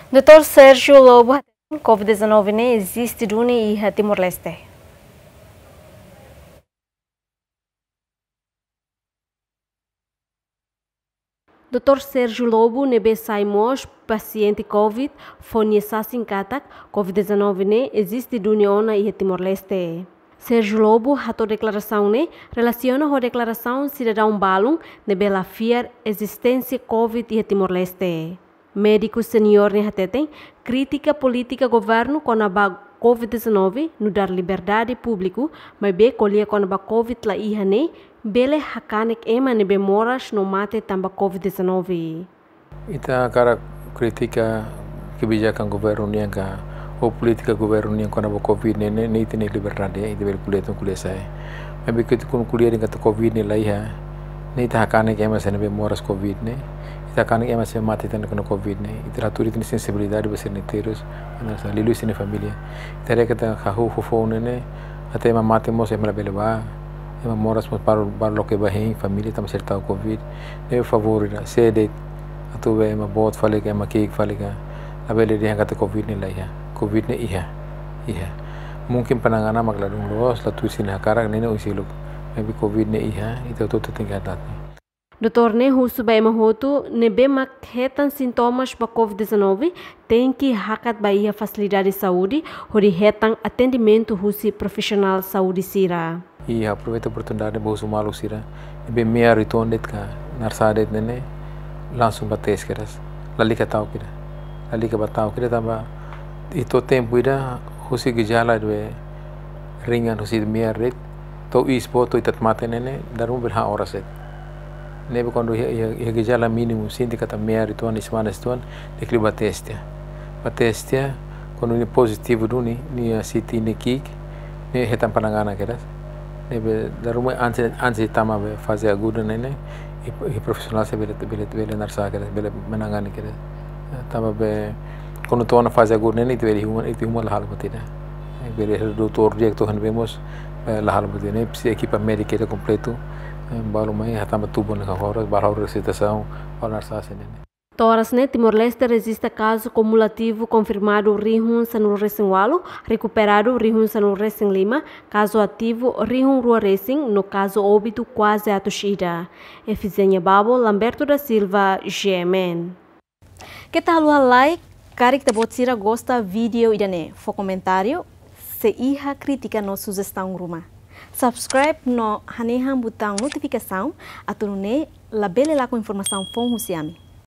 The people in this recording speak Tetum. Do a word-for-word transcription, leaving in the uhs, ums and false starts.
Doutór Sérgio Lobo hateten, covid dezanove ne'e eziste duni iha Timor-Leste. Doutór Sérgio Lobo ne'ebé sai mós pasiente covid fó nia sasin katak covid dezanove ne'e eziste duni ona iha Timor-Leste. Sérgio Lobo hato'o deklarasaun ne'e relasiona ho deklarasaun sidadaun balun ne'ebé la fiar ezisténsia covid iha Timor-Leste. Médiku seniór ne'e hateten, kritika polítika governu kona-ba covid dezanove nu'udar liberdade públiku, maibé ko'alia kona-ba covid la iha ne'e, bele hakanek ema ne'ebé moras no mate tanba covid dezanove. Ita hakarak kritika kebijakan governu nian ka, ou polítika governu nian kona-ba covid ne'e, ne'e, ne'e ita-nia liberdade, ita bele ko'alia tun ko'alia sa'e. Maibé ita kuandu ko'alia dehan katak covid ne'e la iha, ne'e ita hakanek ema sira ne'ebé moras covid ne'e, ita hakanek ema sira mate tan kona covid ne'e, ita la tuir ita-nia sensibilidade ba sira-nia enterru, liuliu sira-nia família. Ita haree katak hahú foufoun ne'e, até ema mate mós ema labele bá, ema moras mós balu, balu loke bá hein família tanba sira tau covid. Ne'e favór ida, sé de'it, atu be ema boot fali ka, ema ki'ik fali ka, labele dehan katak covid ne'e la iha. Covid ne'e iha, iha. Mungkin pananganan mak ladún loos, la tuir sira-nia hakarak, ne'e ne'e oin seluk. Maibé covid ne'e iha, ita hotu-hotu tenke hatene. Doutór ne'e husu ba ema hotu ne'ebé mak hetan sintomas ba covid dezanove, tenke hakat ba iha fasilidade saúde, hodi hetan atendimentu husi profisionál saúde sira. I aproveita oportunidade ba husu maluk sira ne'ebé mear uitoan de'it ka narsá de'it ne'e ne'e, langsung bá tes kedas. Lalika ta'uk ida. Lalika bá ta'uk ida tanba ita tempu ida husi gejala ne'ebé ringan, husi mear de'it to'o iis boot to'o ita mate ne'e ne'e, dala ruma bele han oras de'it. Ne'ebé kuandu iha, iha, iha gejala mínimu, sente katak mear uitoan, iis manas uitoan, tenke liu bá tes tiha. Bá tes tiha, kuandu nia pozitivu duni, nia siti, nia ki'ik, ne'e hetan pananganan kedas. Ne'ebé dala ruma antes, antes de tama ba faze aguda ne'e ne'e, iha, iha profisionál sira bele, bele, bele narsá kedas, bele menangani kedas. Tanba be kuandu to'o ona faze aguda ne'e ne'e, ita bele iha uma, ita iha uma la halo buat ida. Bele doutór diretu han be mós, eh, la halo buat ida. Ne'e presiza ekipa médika ida kompletu, eh, balu mai hatama tubu ne'e ka horas, balu halo resitasaun, balu narsá sira ne'e ne'e. To'o oras ne'e Timor-Leste rejista kazu kumulativu konfirmadu rihun sanulu-resin-ualu, rekuperadu rihun sanulu-resin-lima, kazu ativu rihun rua-resin, no kazu óbitu kuaze atus ida. Efizénia Babo, Lamberto da Silva, G M N. Keta haluha like, karik ita-boot sira gosta vídeo ida-ne'e, fó komentáriu, se iha krítika no sujestaun ruma. Subscribe no hanehan butaun notifikasaun, atu nune'e labele lakon informasaun foun husi ami.